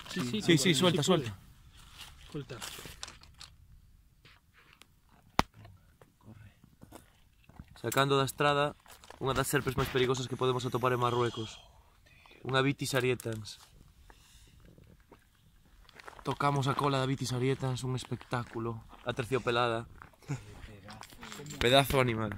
Sí, suelta. Suelta. Sacando da estrada unha das serpes máis perigosas que podemos atopar en Marruecos. Unha Vitis arietans. Tocamos a cola da Vitis arietans, un espectáculo. Aterciopelada. Pedazo animal.